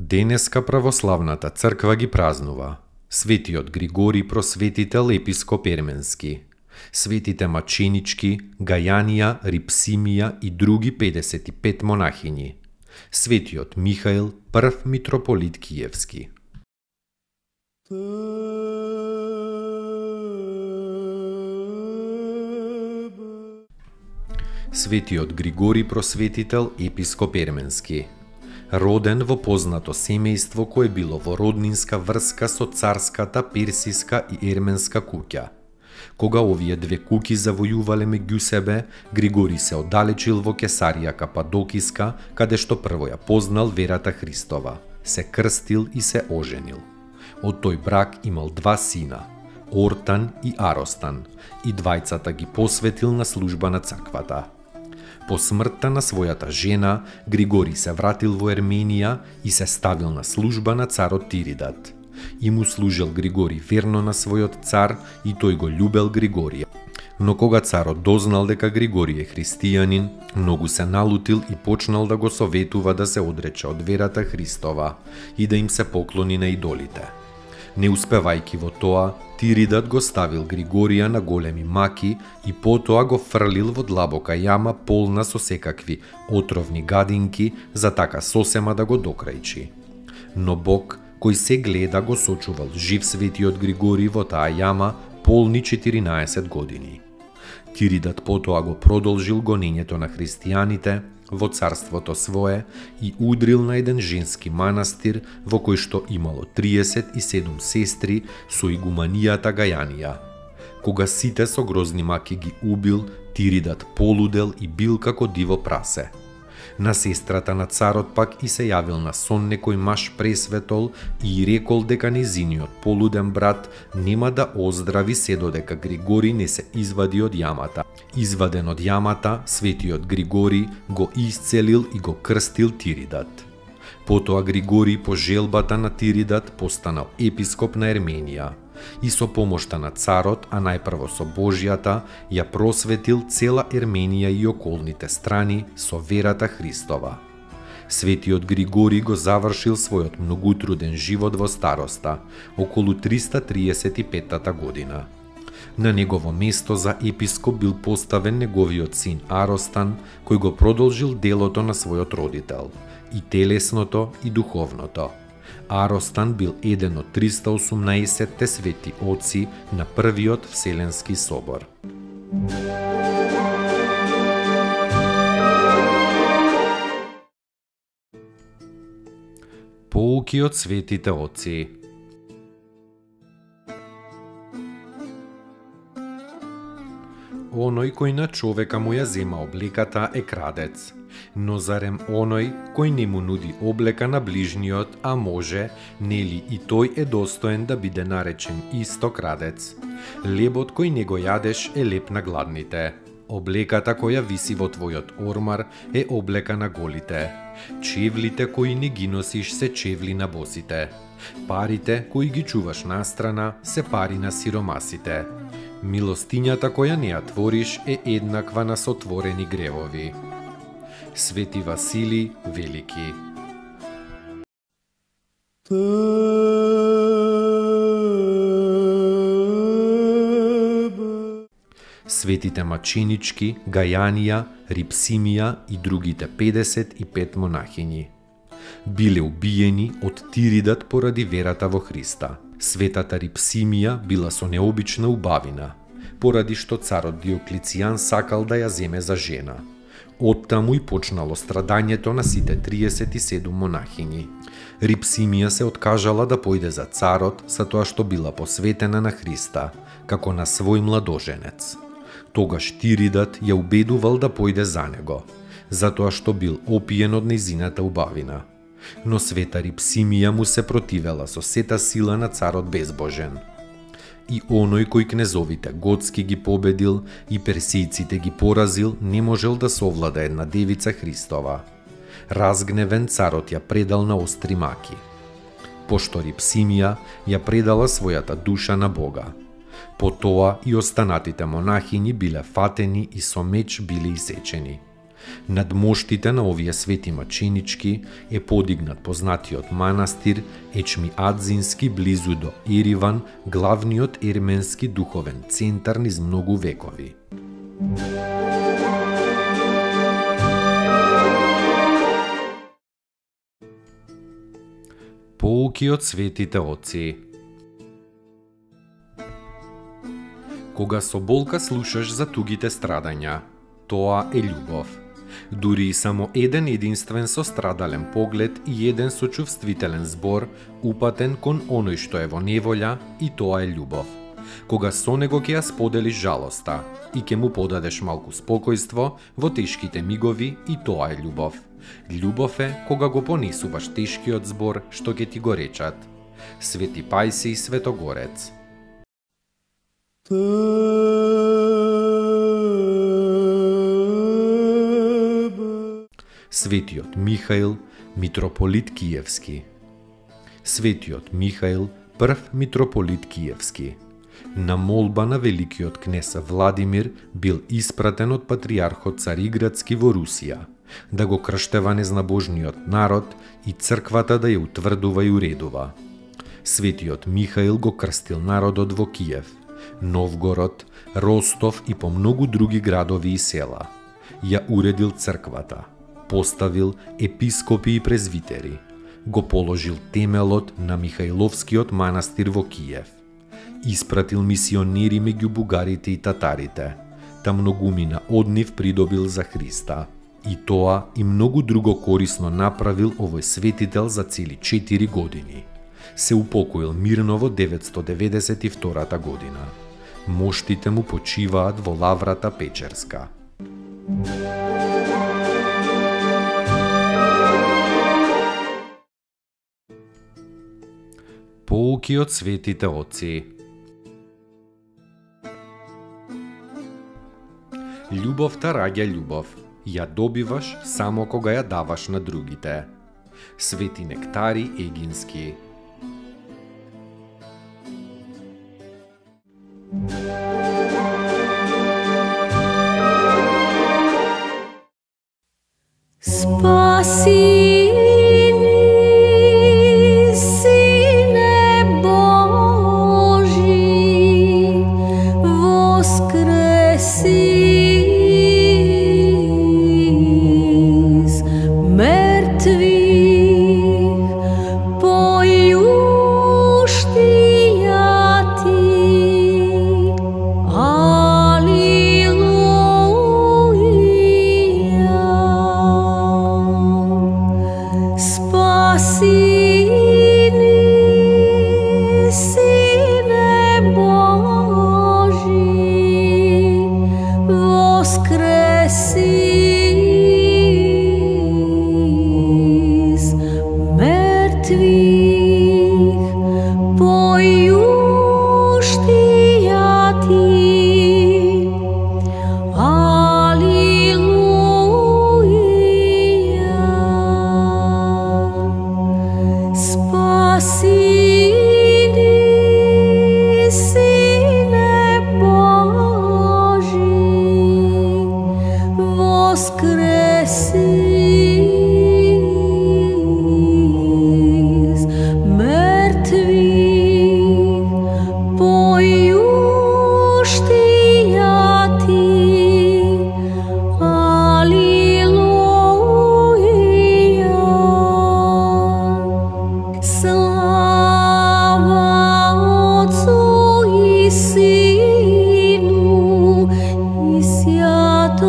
Денеска православната црква ги празнува светиот Григорий Просветител епископ Ерменски, светите Маченички, Гајанија, Рипсимија и други 55 монахињи, светиот Михаил, прв митрополит Киевски. Светиот Григорий Просветител епископ Ерменски, роден во познато семејство кое било во роднинска врска со царската, персиска и ерменска куќа. Кога овие две куќи завојувале меѓу себе, Григорий се оддалечил во Кесарија Кападокиска, каде што прво ја познал верата Христова, се крстил и се оженил. Од тој брак имал два сина, Ортан и Аростан, и двајцата ги посветил на служба на црквата. По смртта на својата жена, Григорий се вратил во Ерменија и се ставил на служба на царот Тиридат. И му служил Григорий верно на својот цар и тој го љубел Григорија. Но кога царот дознал дека Григорий е христијанин, многу се налутил и почнал да го советува да се одрече од верата Христова и да им се поклони на идолите. Не успевајќи во тоа, Тиридат го ставил Григорија на големи маки и потоа го фрлил во длабока јама полна со секакви отровни гадинки за така сосема да го докрајчи. Но Бог, кој се гледа, го сочувал жив светиот Григорий во таа јама полни 14 години. Тиридат потоа го продолжил гонењето на христијаните во царството свое и удрил на еден женски манастир во кој што имало 37 сестри со игуманијата Гајанија. Кога сите со грозни маки ги убил, Тиридат полудел и бил како диво прасе. На сестрата на царот пак и се јавил на сон некој маж пресветол и рекол дека незиниот полуден брат нема да оздрави се додека Григорий не се извади од јамата. Изваден од јамата, светиот Григорий го исцелил и го крстил Тиридат. Потоа Григорий по желбата на Тиридат постанал епископ на Ерменија и со помошта на царот, а најпрво со Божјата, ја просветил цела Ерменија и околните страни со верата Христова. Светиот Григорий го завршил својот многутруден живот во староста, околу 335 година. На негово место за епископ бил поставен неговиот син Аростан, кој го продолжил делото на својот родител, и телесното и духовното. Аростан бил еден од 318 свети оци на првиот Вселенски собор. Поуки од светите оци. Оној кој на човека му ја зема облеката е крадец. Но зарем оној кој не му нуди облека на ближниот, а може, нели и тој е достоен да биде наречен исто крадец. Лебот кој не го јадеш е леп на гладните. Облеката која виси во твојот ормар е облека на голите. Чевлите кои не ги носиш се чевли на босите. Парите кои ги чуваш настрана се пари на сиромасите. Милостињата која не ја твориш е еднаква на сотворени гревови. Свети Василий Велики. Светите Маченички, Гајанија, Рипсимија и другите 55 монахињи биле убиени од Тиридат поради верата во Христа. Светата Рипсимија била со необична убавина, поради што царот Диоклицијан сакал да ја земе за жена. Оттаму и почнало страдањето на сите 37 монахињи. Рипсимија се откажала да појде за царот, за тоа што била посветена на Христа, како на свој младоженец. Тогаш Тиридат ја убедувал да појде за него, затоа што бил опиен од нејзината убавина. Но света Рипсимија му се противела со сета сила на царот безбожен. И оној кој кнезовите готски ги победил и персијците ги поразил, не можел да совлада една девица Христова. Разгневен царот ја предал на остри маки. Пошто Рипсимија ја предала својата душа на Бога. Потоа и останатите монахини биле фатени и со меч биле исечени. Над моштите на овие свети маченички е подигнат познатиот манастир Ечмиадзински близу до Ериван, главниот ерменски духовен центар низ многу векови. Поуки од светите отци. Кога со болка слушаш за тугите страдања, тоа е љубов. Дури и само еден единствен сострадален поглед и еден сочувствителен збор упатен кон оној што е во неволја, и тоа е љубов. Кога со него ќе ја споделиш жалоста и ќе му подадеш малку спокојство во тешките мигови, и тоа е ljubов. Љубов е кога го понесуваш тешкиот збор што ќе ти го речат. Свети Пајсий Светогорец. Светиот Михаил, митрополит Киевски. Светиот Михаил, прв митрополит Киевски. На молба на великиот кнез Владимир бил испратен од патриархот Цариградски во Русија, да го крштева незнабожниот народ и црквата да ја утврдува и уредува. Светиот Михаил го крстил народот во Киев, Новгород, Ростов и по многу други градови и села. Ја уредил црквата, поставил епископи и презвитери, го положил темелот на Михаиловскиот манастир во Киев, испратил мисионери меѓу бугарите и татарите, та многумина од нив придобил за Христа. И тоа и многу друго корисно направил овој светител за цели 4 години. Се упокоил мирно во 992 година. Моштите му почиваат во лаврата Печерска. Поуки од светите отци. Љубовта раѓа љубов. Ја добиваш само кога ја даваш на другите. Свети Нектари Егински.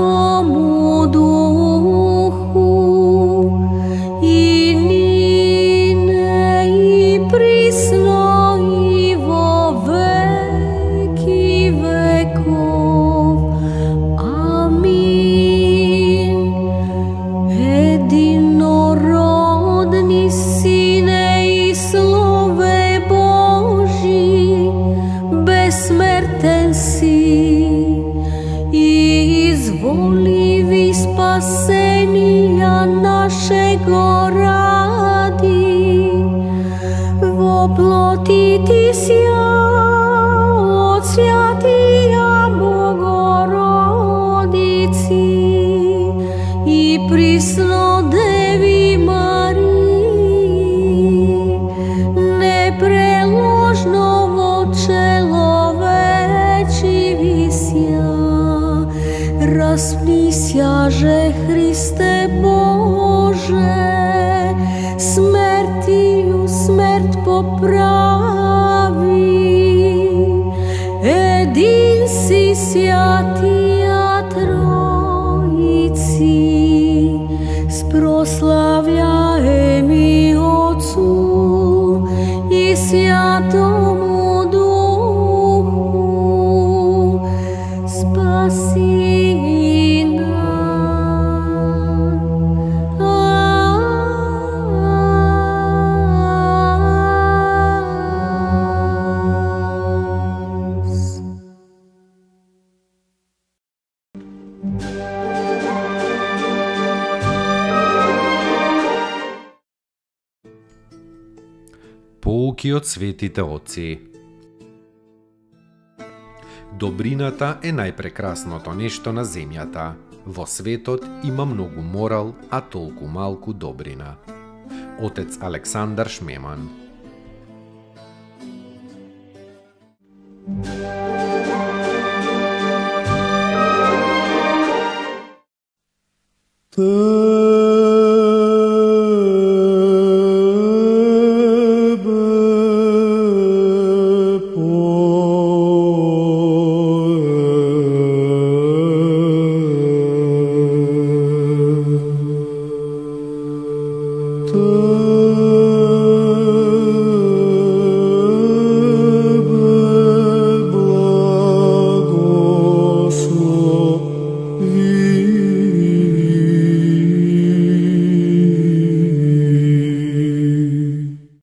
Святому Духу. изволиви спасенија нашего ради, во плоти ти сја од свјатија Богородици и присно Деви Марии, непреложно во человечи висја, распнисјаже Христе Боже, смертију смрт поправи, един си свјатија Тројци, спрослављаеми Отцу и Свјатому Духу, спаси Поуки од светите отци. Добрината е најпрекрасното нешто на земјата. Во светот има многу морал, а толку малку добрина. Отец Александар Шмеман. Tebe